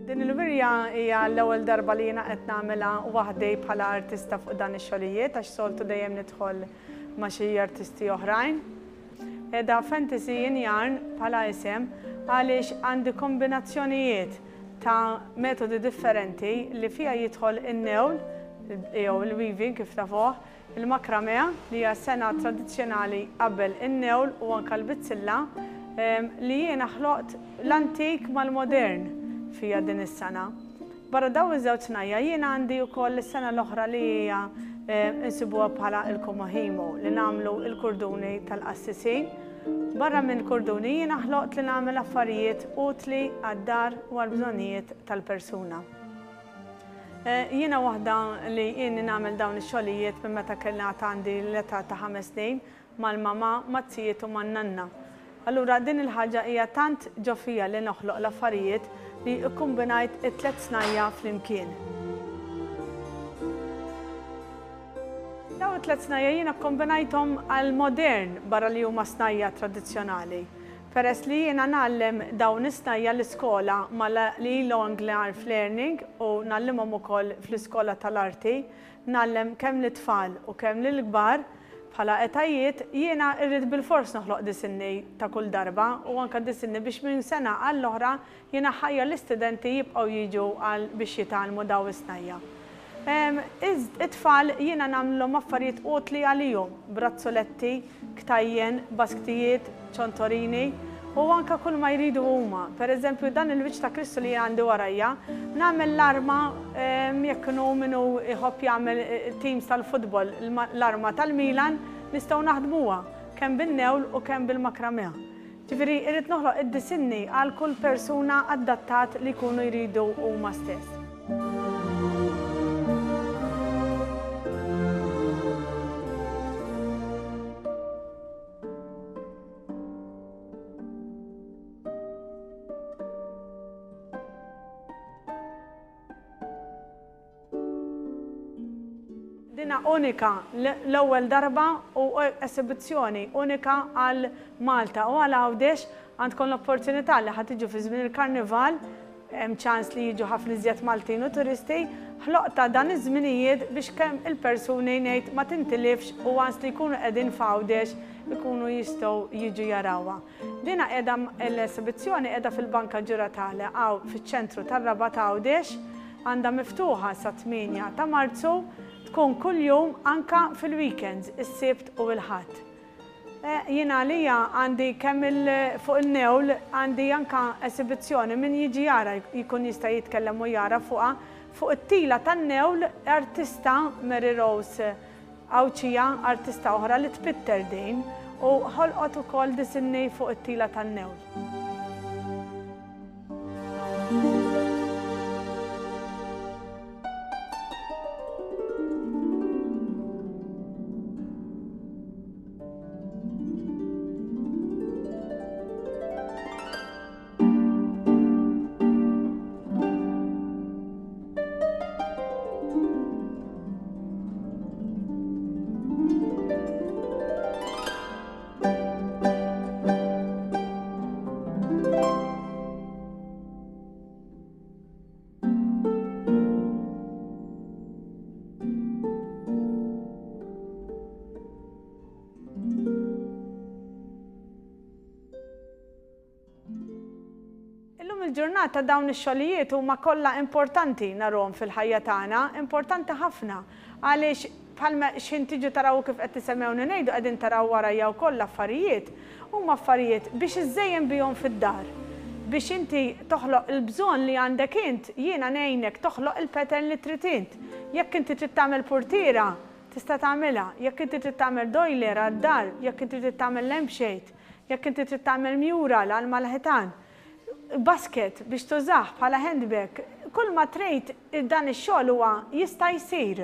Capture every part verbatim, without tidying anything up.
Din il-wirja hija l-ewwel darba li jiena qed nagħmilha waħdi bħala artista fuq dan ix-xogħlijiet, għax soltu dejjem nidħol ma' xi artisti oħrajn. Qiegħda Fantasy in Yarn bħala isem għaliex għandi kombinazzjonijiet ta' metodi differenti li fiha jidħol in-newl jew il-weaving kif tafuh, il-makramea li hija sengħa tradizzjonali qabel in-newl u anke l-bizzilla, li jiena ħloqt l-antik mal-modern fija din is-sena. Barra daw iż-żewġ snajja jiena għandi wkoll is-sena l-oħra li hija insibuha bħala il-komohimo li nagħmlu il-kurduni tal-qassisin. Barra minn kurduni jiena ħloqt li nagħmel affarijiet utli għad-dar u għall-bżonnijiet tal-persuna. Jiena waħda li jieni nagħmel dawn ix-xogħlijiet minn meta kellna għandi l-età ta' ħames snin mal-mama, mat-zijiet u man-nanna. Allura din il-ħaġa hija tant ġo fija li noħloq l-affarijiet li kkombinajt it-tliet snajja flimkien. Dawn it-tliet snajja jiena kkombinajthom għall-modern barra li huma snajja tradizzjonali. Peress li jiena ngħallem dawn is-snajja l-iskola mal-Long Life Learning u ngħallimhom ukoll fl-iskola tal-arti, ngħallem kemm lit-tfal u kemm lill-kbar bħala etajiet, jiena rrid bilfors noħloq disinni ta' kull darba u anke disinni biex minn sena għall-oħra jiena ħajja l-istudenti jibqgħu jiġu għal biex jitgħallmu dawn is-snajja. It-tfal jiena nagħmlhom affarijiet utli għalihom, brazzoletti, ktajjen, basktijiet, ċontorini u anke kull ma jridu huma. Per eżempju, dan il-wiċċ ta' Kristu li għandi warajja, nagħmel l-arma, jekk inhu minnu jħobb jagħmel teams tal-futbol, l-arma tal-Milan, nistgħu naħdmuha kemm bin-newl u kemm bil-makramea. Ġifieri irrid noħloq id-disinni għal kull persuna adattat li jkunu jridu huma stess. Dina unika l-ewwel darba u esibizzjoni unika għal Malta u għal Għawdex. Għandkom l-opportunità li ħa tiġu fi żmien il-karnival, hemm ċans li jiġu ħafna iżjed Maltin u turisti, ħloqta dan iż-żminijiet biex kemm il-persuni ngħid ma tintilifx u għans li jkunu qegħdin f'Għawdex ikunu jistgħu jiġu jarawha. Dina qiegħda l-esibizzjoni qiegħda fil-Banka Ġuratale hawn fiċ-ċentru tar-Rabat Għawdex, għandha miftuħa sa tmienja ta' Marzu, tkun kuljum anka fil-weekends, is-Sibt u l-Ħadd. Jiena għalija għandi kemm il-, fuq il-newl għandi anka esibizzjoni min jiġi jara jkun jista' jitkellem u jara fuqha. Fuq it-tila tan-newl artista Mary Rose Għawdxija, artista oħra li tpitter din u ħolqot ukoll disinni fuq it-tila tan-newl. Illum il-ġurnata dawn ix-xogħlijiet huma kollha importanti narhom fil-ħajja tagħna, importanti ħafna, għaliex bħalma x'ħin tiġu taraw kif qed tisemmewni ngħidu qegħdin taraw warajja wkoll affarijiet, huma affarijiet biex iżżejjen bihom fid-dar. Biex inti toħloq il-bżonn li għandek int, jiena ngħinek toħloq il-pattern li trid int. Jekk inti trid tagħmel portiera, tista' tagħmilha, jekk inti trid tagħmel doiler għad-dar, jekk inti trid tagħmel lampshade, jekk inti trid tagħmel mural għal mal-ħitan, basket biex tużah bħala handbag, kull ma trid dan ix-xogħol huwa jista' jsir.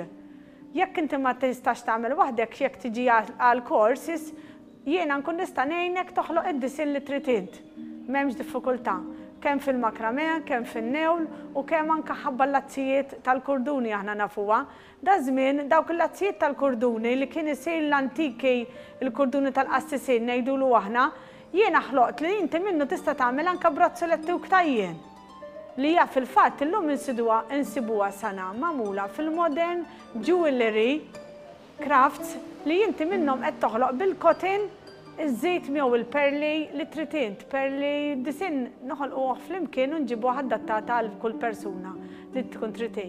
Jekk inti ma tistax tagħmel waħdek, jekk tiġi għal courses, jiena nkun nista' ngħinek toħloq id-disinn li trid int. M'hemmx diffikultà. Kemm fil-makrame, kemm fin-newl u kemm anka ħabba l-lazzijiet tal-kurduni aħna nafuha. Da żmien dawk il-lazzijiet tal-kurduni li kien isir l-antiki, il-kurduni tal-qassisin ngħidulu aħna, jiena ħloqt li inti minnu tista' tagħmel anka brazzoletti u ktajjen. Li hija fil-fatt illum insiduha insibuha sana magħmula fil-modern jewelry crafts li inti minnhom qed toħloq bil-cotton iżżid miegħu il-perli li trid int, perli disinn noħolquh flimkien u nġibuha adattata għal kull persuna li tkun trid hi.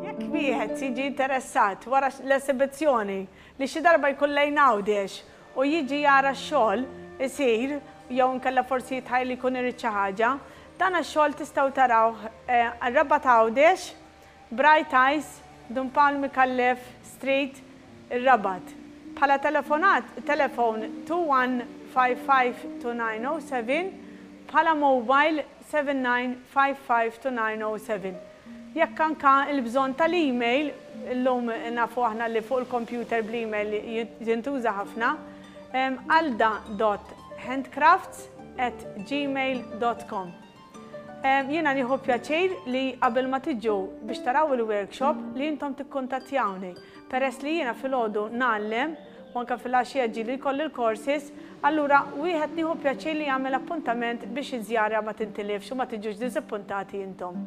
Jekk wieħed jiġi interessat wara l-esibizzjoni li xi darba jkun lejn Għawdex u jiġi jara x-xogħol isir jew inkella forsi jitħajjel li jkun irid xi ħaġa, dan ix-xogħol tistgħu tarawh Rabat Għawdex, Bright Eyes, Dun Pawl Micallef Street, ir-Rabat. Bħala telefonat, telefon two one five five two nine oh seven, bħala mobile seven nine five five two nine oh seven. Jekk anka il-bżonn tal-email, illum nafu aħna li fuq il-computer bl-email jintuża ħafna, alda dot handcrafts at gmail dot com. Jiena nieħu pjaċir li qabel ma tiġu biex taraw il-workshop li intom tikkuntattjawni. Peress li jiena filgħodu ngħallem u anke fil-għaxija ġieli jkolli l-courses, allura wieħed nieħu pjaċir li jagħmel appuntament biex iż-żjara ma tintilifx u ma tiġux diżappuntati intom.